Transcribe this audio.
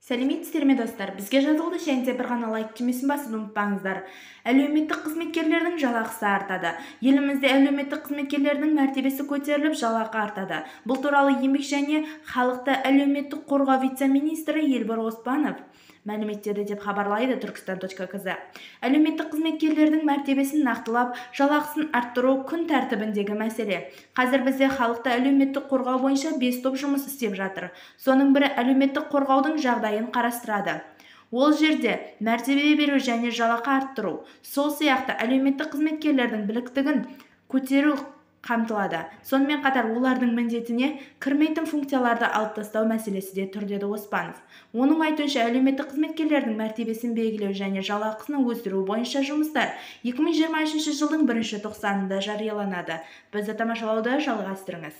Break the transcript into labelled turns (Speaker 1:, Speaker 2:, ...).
Speaker 1: Сәлеметсіздер ме достар? Бізге жазылды және де бір ғана лайк түймесін басуды ұмытпаңыздар. Әлеуметтік қызметкерлердің жалақысы артады. Елімізде әлеуметтік қызметкерлердің мәртебесі көтеріліп, жалақы артады. Бұл туралы еңбек және халықты әлеуметтік қорғау вице-министрі Елбар Оспанов мәліметтеді деп хабарлайды Turkistan.kz. Әлеуметтік қызметкерлердің мәртебесін нақтылап, жалақысын арттыру күн тәртібіндегі мәселе. Қазір бізде халықты әлеуметтік қорғау бойынша 5 топ жұмыс істеп жатыр. Соның бірі әлеуметтік қорғаудың жағдайын қарастырады. Ол жерде мәртебе беру және жалақы арттыру, сол сияқты әлеуметтік қызметкерлердің біліктігін көтеру қамтылады. Сонымен қатар олардың міндетіне кірмейтін функцияларды алып тастау мәселесі де тұр, деді Оспанов. Оның айтуынша, әлеуметтік қызметкерлердің мәртебесін белгілеу және жалақысын өсіру бойынша жұмыстар 2023 жылдың 1 тоқсанында жарияланады. Бізді тамашалауды жалғастырыңыз.